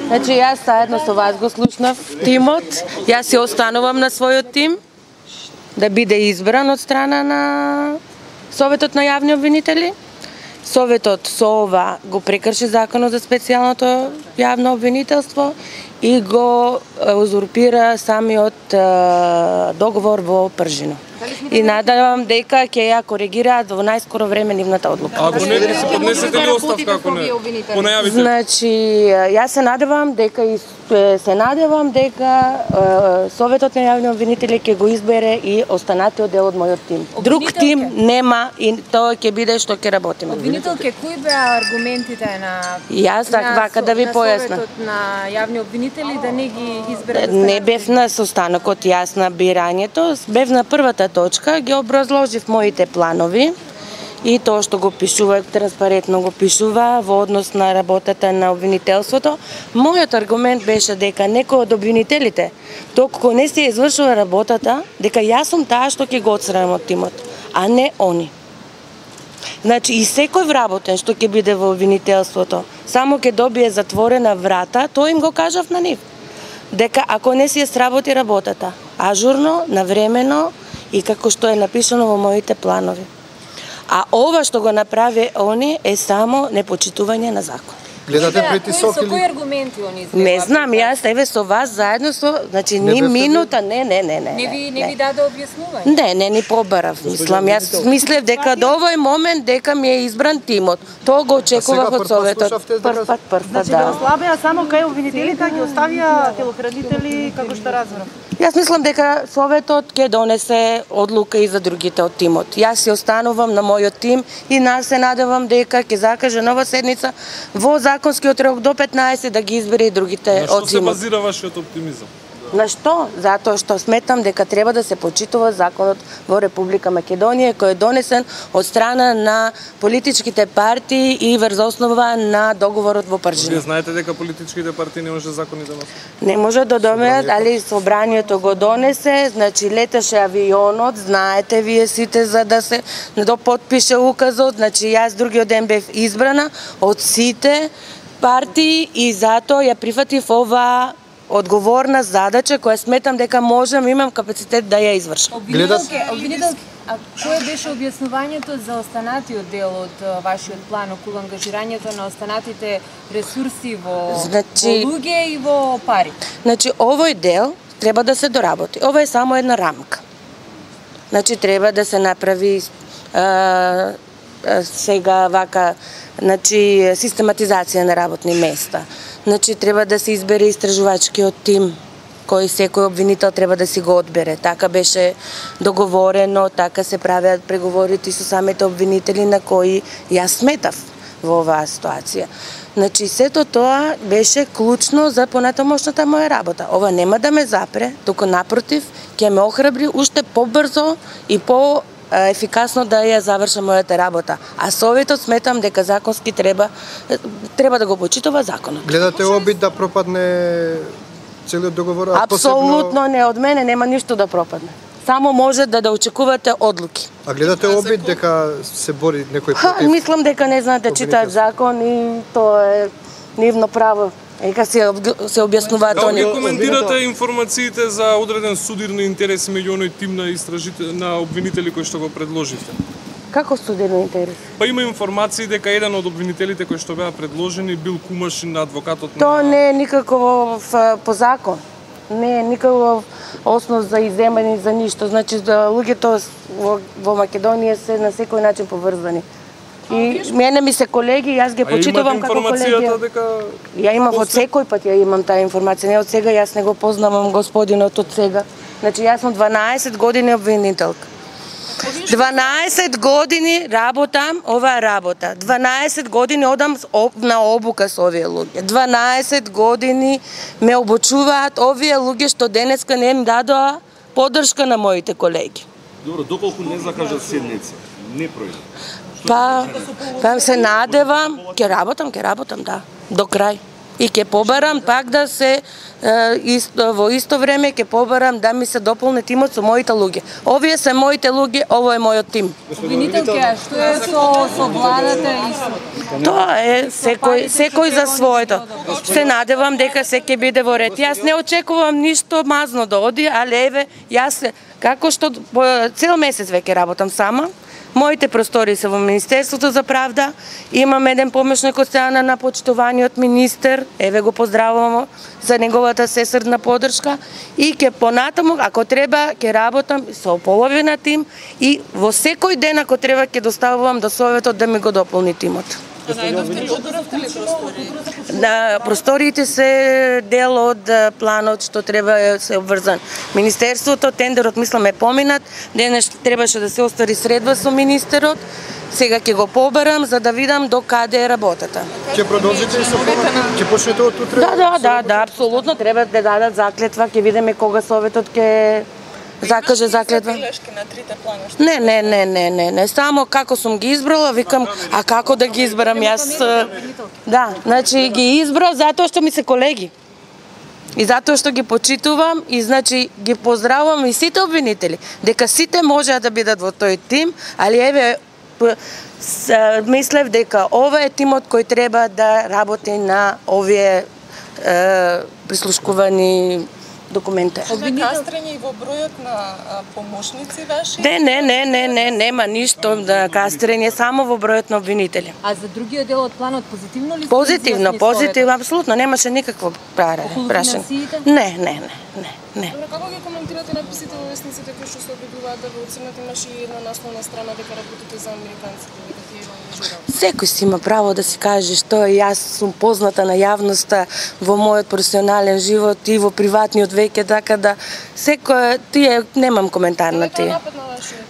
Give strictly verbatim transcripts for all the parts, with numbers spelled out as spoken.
Значи јас заедно со вас го слушнав тимот, јас се останувам на својот тим да биде избран од страна на Советот на јавни обвинители. Советот со ова го прекрши законот за специјалното јавно обвинителство и го узурпира самиот договор во пржино. И надевам дека ќе ја коригираат во најскоро време нивната одлука. Ако не, ќе се поднесете ли оставка ако не? Понајавите. Значи, јас се надевам дека и се надевам дека Советот на јавни обвинители ќе го избере и останатиот дел од мојот тим. Друг тим нема и тоа ќе биде што ќе работиме. Обвинителке, кои беа аргументите на Јас вака да ви појаснам. Советот на јавни обвинители да не ги избере? Не бев на состанокот јас на бирањето, бев на првата точка, ги образложив моите планови и тоа што го пишува, транспарентно го пишува во однос на работата на обвинителството. Мојот аргумент беше дека некој од обвинителите, доколку не се извршува работата, дека јас сум таа што ќе го отстранам од тимот, а не они. Значи и секој вработен што ќе биде во обвинителството, само ќе добие затворена врата, тоа им го кажав на нив. Дека ако не си ја сработи работата, ажурно, навремено и како што е напишано во моите планови. А ова што го направи они е само непочитување на закон. Гледате притисок или? Со кои аргументи они изгледа? Не знам, јас еве со вас заедно со, значи ни минута, не, не, не, не. Не ви не ви даде објаснување? Не, не ни побарав. Мислам, јас мислев дека до овој момент дека ми е избран тимот. Тоа го очекував од Советот. Прв пат, прв пат, Значи да ослабеа само кај обвинителите, ги оставија телохранители како што разбрав. Јас мислам дека Советот ќе донесе одлука и за другите од тимот. Јас се останувам на мојот тим и нас се надевам дека ќе закаже нова седница во законскиот рок до петнаесет да ги избере и другите од тимот. На што се базира вашиот оптимизам? На што? Затоа што сметам дека треба да се почитува законот во Република Македонија кој е донесен од страна на политичките партии и врз основа на договорот во пржино. Вие знаете дека политичките партии не може закони да носат? Не може да донесат, али собранието го донесе, значи леташе авионот, знаете вие сите за да се да потпише указот, значи јас другиот ден бев избрана од сите партии и затоа ја прифатив ова одговорна задача која сметам дека можам, имам капацитет да ја извршам. Обвинителке, обвинителке, а кое беше објаснувањето за останатиот дел од вашиот план околу ангажирањето на останатите ресурси во, значи, во луѓе и во пари? Значи, овој дел треба да се доработи. Ова е само една рамка. Значи, треба да се направи а, а, сега вака, значи, систематизација на работни места. Значи, треба да се избере истражувачкиот тим, кој секој обвинител треба да си го одбере. Така беше договорено, така се правеат преговорите со самите обвинители на кои јас сметав во оваа ситуација. Значи, сето тоа беше клучно за понатамошната моја работа. Ова нема да ме запре, туку напротив, ќе ме охрабри уште побрзо и по ефикасно да ја завршам мојата работа. А Советот сметам дека законски треба треба да го почитува законот. Гледате обид да пропадне целиот договор? Апсолутно не, од мене нема ништо да пропадне. Само може да да очекувате одлуки. А гледате обид дека се бори некој против? Мислам дека не знаат да читаат закон и тоа е нивно право. Ека се се објаснуваат они. Како коментирате информациите за одреден судирни интереси меѓу оној тим на истражители на обвинители кои што го предложивте? Како судирни интереси? Па има информации дека еден од обвинителите кои што беа предложени бил кумашин на адвокатот на... Тоа не е никаков по закон. Не е никаков основ за иземање за ништо. Значи, луѓето во, во Македонија се на секој начин поврзани. И мене ми се колеги, јас ги почитувам како колеги. Дека... Ја имам од секој пат, ја имам таа информација, не од сега, јас не го познавам господинот од сега. Значи, јас сум дванаесет години обвинителка. дванаесет години работам оваа работа. дванаесет години одам на обука со овие луѓе. дванаесет години ме обучуваат овие луѓе што денеска не им дадоа поддршка на моите колеги. Добро, доколку не закажат седница, не пројде. Па, па се надевам, ќе работам, ќе работам, да, до крај. И ќе побарам пак да се исто, во исто време ќе побарам да ми се дополни тимот со моите луѓе. Овие се моите луѓе, ово е мојот тим. Обвинителке, што е со со владата и со Тоа е секој секој за своето. Се надевам дека се ќе биде во ред. Јас не очекувам ништо мазно да оди, али еве јас како што цел месец веќе работам сама. Моите простори се во Министерството за правда. Имам еден помошник од страна на почитуваниот министер. Еве го поздравувам за неговата сесрдна поддршка и ќе понатаму ако треба ќе работам со половина тим и во секој ден ако треба ќе доставувам до советот да ми го дополни тимот. На просториите се дел од планот што треба се обврзан. Министерството, тендерот мислам е поминат, денес требаше да се оствари средба со министерот, сега ќе го побарам за да видам до каде е работата. Ќе продолжите и со повеќе? Ќе почнете од утре? Да, да, да, да, апсолутно треба да дадат заклетва, ќе видиме кога советот ќе закаже заклетва. Не, не, не, не, не, не, само како сум ги избрала, викам, а како да ги изберам јас? Да, значи ги избрав затоа што ми се колеги. И затоа што ги почитувам и значи ги поздравувам и сите обвинители, дека сите можеа да бидат во тој тим, али еве мислев дека ова е тимот кој треба да работи на овие е, прислушкувани документи. Кастрење и во бројот на помошници ваши? Не, не, не, не, не, нема ништо да кастрење, само во бројот на обвинители. А за другиот дел од планот позитивно ли? Позитивно, позитивно, апсолутно, немаше никакво прашање. Не, не, не, не, не. Добро, како ги коментирате написите во весниците кои што се обидуваат да ве оценат, имаше и една насловна страна дека работите за американците, дека тие го ангажираат? Секој си има право да си каже што е. Јас сум позната на јавноста во мојот професионален живот и во приватниот веќе, така да секој тие немам коментар на тие.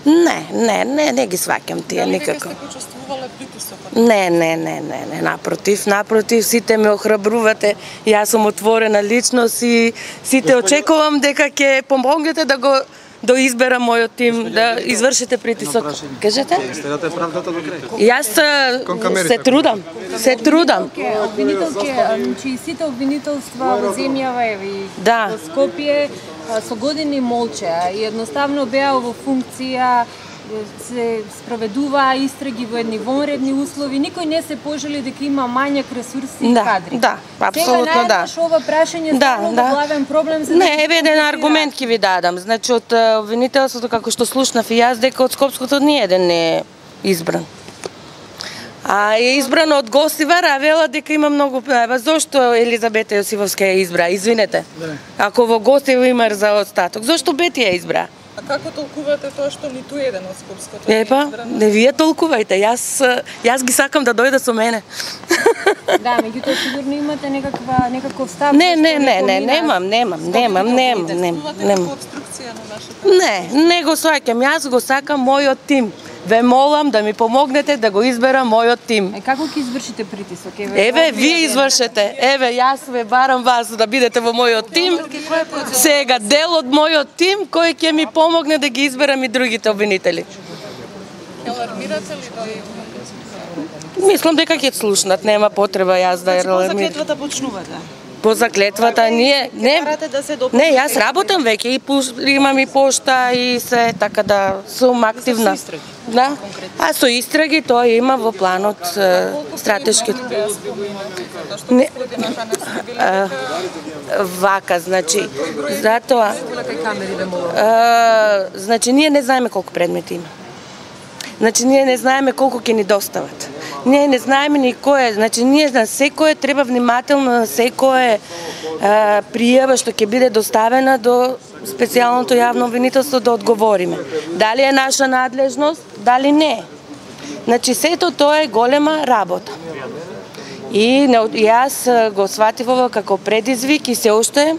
Не, не, не, не ги сваќам тие никако. Дали вие сте почувствувале притисокот? Не, не, не, не, не, напротив, напротив, сите ме охрабрувате. Јас сум отворена личност и сите очекувам дека ќе помогнете да го да изберам мојот тим, да извршите притисок. Кажете? Следате правдата до крај. Јас се трудам, се трудам. Обвинителке, значи сите обвинителства во земјава и Да. во Скопје со години молчеа и едноставно беа во функција, се спроведуваа истраги во едни вонредни услови, никој не се пожели дека има мањак ресурси и Да, кадри. да, апсолутно да. Сега најдеш ова прашање Да, станува да. главен проблем за Не, еве еден аргумент ќе ви дадам. Значи од обвинителството како што слушнав и јас дека од Скопското ни еден не е избран. А е избран од Гостивар, а вела дека има многу. Ева зошто Елизабета Јосифовска ја избра? Извинете. Ако во Гостивар има за остаток, зошто Бети ја избра? А како толкувате тоа што ниту еден од Скопското Епа, не вие толкувајте. Јас јас ги сакам да дојде со мене. Да, меѓутоа сигурно имате некаква некаков став. Не, зашто не, не, не, помина немам, немам, немам, немам, немам, немам. обструкција на вашата? Не, не го сваќам. Јас го сакам мојот тим. Ве молам да ми помогнете да го изберам мојот тим. Е, како ќе извршите притисок? Еве, вие извршете. Еве, јас ве барам вас да бидете во мојот тим. Сега, дел од мојот тим кој ќе ми помогне да ги изберам и другите обвинители. Алармирате ли да Мислам дека ќе слушнат, нема потреба јас да ја алармирам. Заклетвата почнувате. По заклетвата ние не Карате да се дополни. Не, јас работам веќе и пуш, имам и пошта и се, така да сум активна. Со истраги. Да. А со истраги тоа има во планот е, стратешки. Не, а, вака, значи, затоа а, значи ние не знаеме колку предмети има. Значи ние не знаеме колку ќе ни достават. Ние не знаеме ни кој е, значи ние на секое треба внимателно на секое а, пријава што ќе биде доставена до специјалното јавно обвинителство да одговориме. Дали е наша надлежност, дали не. Значи сето тоа е голема работа. И не, јас го сватив ова како предизвик и се уште,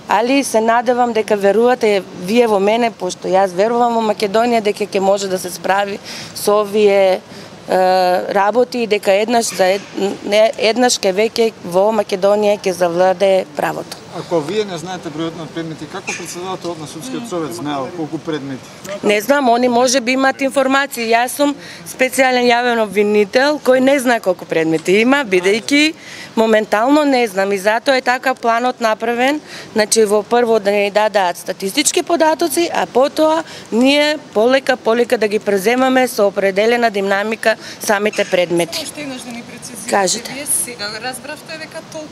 али се надевам дека верувате вие во мене, пошто јас верувам во Македонија дека ќе може да се справи со овие работи и дека еднаш за ед, не, еднаш ке веќе во Македонија ќе завладее правото. Ако вие не знаете бројот на предмети, како председателот на судскиот совет знаел колку предмети? Не знам, они може би имаат информации. Јас сум специјален јавен обвинител кој не знае колку предмети има, бидејќи моментално не знам и затоа е така планот направен, значи во прво да ни дадат статистички податоци, а потоа ние полека полека да ги преземаме со определена динамика самите предмети. Уште еднаш да ни прецизирате. Кажете. Вие сега разбравте дека толку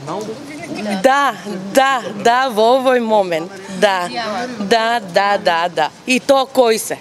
Да, да, да, во овој момент. Да, да, да, да, да. И то кои се?